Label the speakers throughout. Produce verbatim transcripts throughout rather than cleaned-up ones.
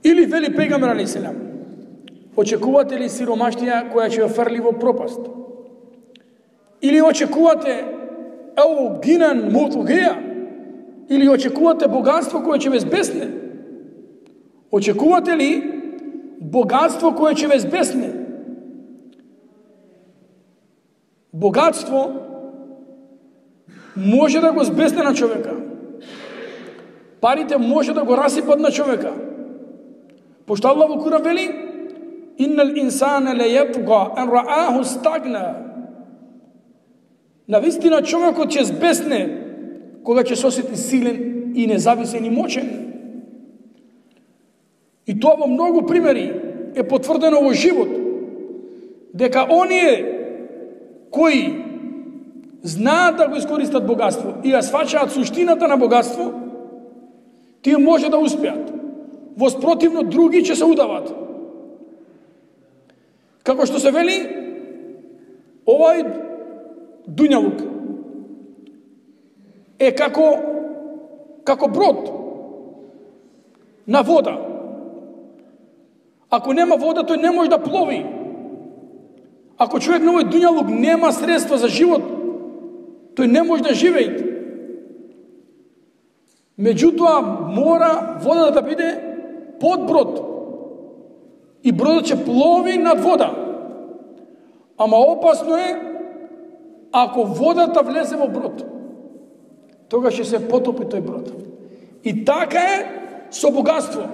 Speaker 1: Или вели пегамбер алейхи селам, очекувате ли сиромаштија која ќе ве фрли во пропаст? Или очекувате еу гинан мутугеа? Или очекувате богатство кое ќе ве збесне? Очекувате ли богатство кое ќе ве збесне? Богатство може да го збесне на човека. Парите може да го расипат на човека. Пошто Аллах во Куран вели: "Иннал инсана лаятга ан рааху стагна." Навистина човекот ќе збесне кога ќе се осети силен и независен и мочен. И тоа во многу примери е потврдено во живот, дека оние кои знаат да го искористат богатство и ја сваќаат суштината на богатство, тие може да успеат. Воспротивно, други ќе се удават. Како што се вели, овај дуњалук е како како брод на вода. Ако нема вода, тој не може да плови. Ако човек на овој дуњалук нема средства за живот, тој не може да живее. Меѓутоа, мора водата да биде под брод. И бродот ќе плови над вода. Ама опасно е ако водата влезе во брод. Тогаш ќе се потопи тој брод. И така е со богатство.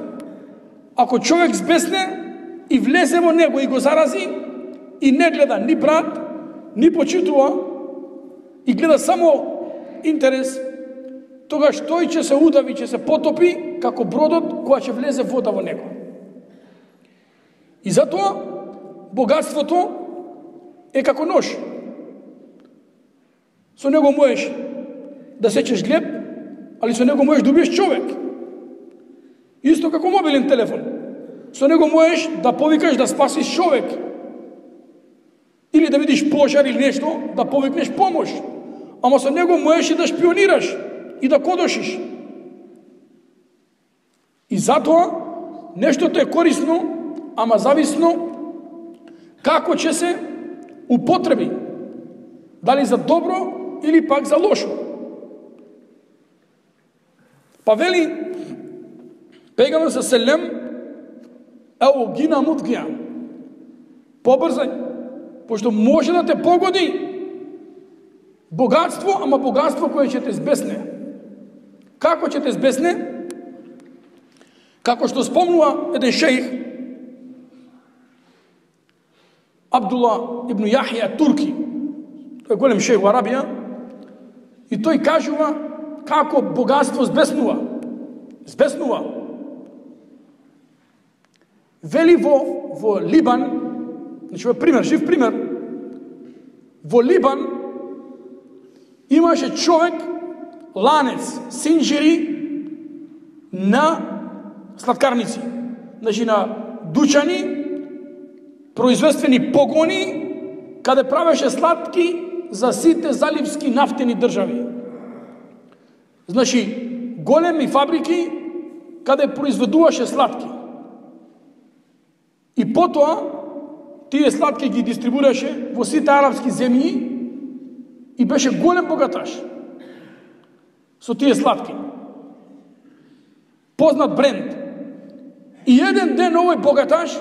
Speaker 1: Ако човек збесне и влезе во него и го зарази, и не гледа ни брат, ни почитува, и гледа само интерес, тогаш тој ќе се удави, ќе се потопи како бродот која ќе влезе вода во него. И затоа богатството е како нож. Со него можеш да сечеш глеб, али со него можеш да убиеш човек. Исто како мобилен телефон. Со него можеш да повикаш да спасиш човек. Или да видиш пожар или нешто, да повикнеш помош. Ама со него можеш и да шпионираш и да кодошиш. И затоа нештото е корисно, ама зависно како ќе се употреби. Дали за добро или пак за лошо. Па вели пегамбер селем еу гина мутгија. Побрзај, пошто може да те погоди богатство, ама богатство кое ќе те збесне. Како ќе те збесне? Како што спомнува еден шејх, Абдулла ибн Јахја Турки, тој е голем шејх во Арабија, и тој кажува како богатство збеснува. Збеснува. Вели во, во Либан, значи во пример, жив пример, во Либан имаше човек, ланец, синџири на сладкарници, значи на дучани, производствени погони, каде правеше сладки за сите заливски нафтени држави. Значи, големи фабрики каде произведуваше сладки. И потоа, тие сладки ги дистрибураше во сите арапски земји и беше голем богаташ со тие сладки. Познат бренд. И еден ден овој богаташ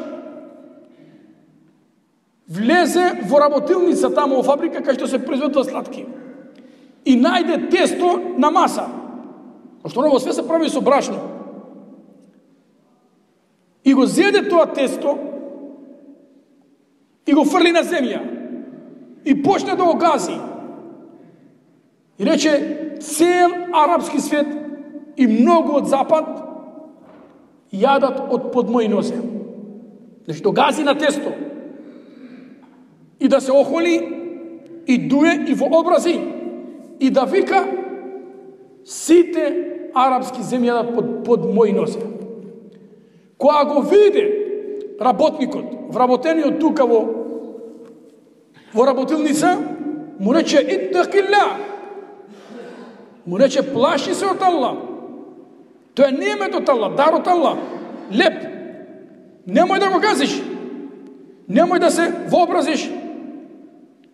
Speaker 1: влезе во работилница тамо во фабрика кај што се произведува сладки. И најде тесто на маса. Пошто оно све се прави со брашно. И го зеде тоа тесто и го фрли на земја. И почне да го гази. И рече, цел арапски свет и многу од запад јадат од под мои нозе. Значи, да гази на тесто. И да се охоли, и дуе, и во образи, и да вика, сите арапски земји јадат под, под мои нозе. Кога го виде работникот, вработениот тука во, во работилница, му рече, иттакилла, му рече, плаши се од Аллах. Тоа е немет од Аллах, дар од Аллах, леп, Немој да го газиш. Немој да се вообразиш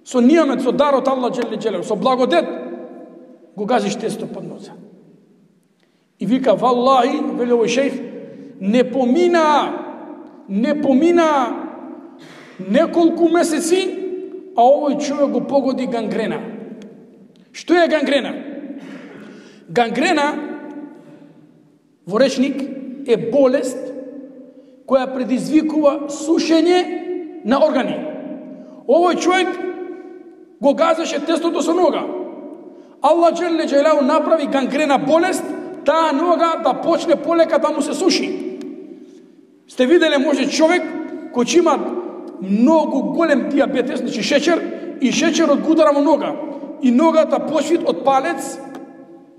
Speaker 1: со нијамет, со дар од Аллах джеле джелелу, со благодет, го газиш тесто под носа. И вика, валлахи, вели овој шејх, не помина, не помина неколку месеци, а овој човек го погоди гангрена. Што е гангрена? Гангрена во речник е болест која предизвикува сушење на органи. Овој човек го газеше тестото со нога. Аллах джеле джелелу направи гангрена болест, таа нога да почне полека да му се суши. Сте виделе може човек кој ќе има многу голем диабетес, значи шеќер, и шеќерот го удара во нога. И ногата почви од палец,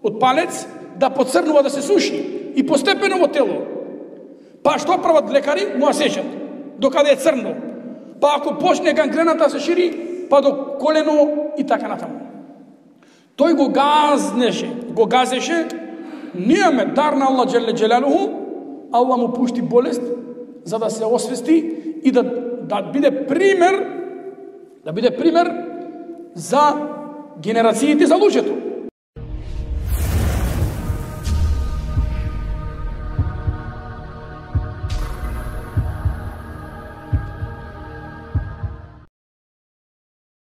Speaker 1: од палец да поцрнува, да се суши. И постепено во тело. Па што прават лекари? Му ја сечат. Докаде е црно. Па ако почне гангрената се шири, па до колено и така натаму. Тој го газнеше, го газеше, нијаме дар на Аллах джеле джелелуху, Аллах му пушти болест, за да се освести и да, да биде пример, да биде пример за генерациите за луѓето.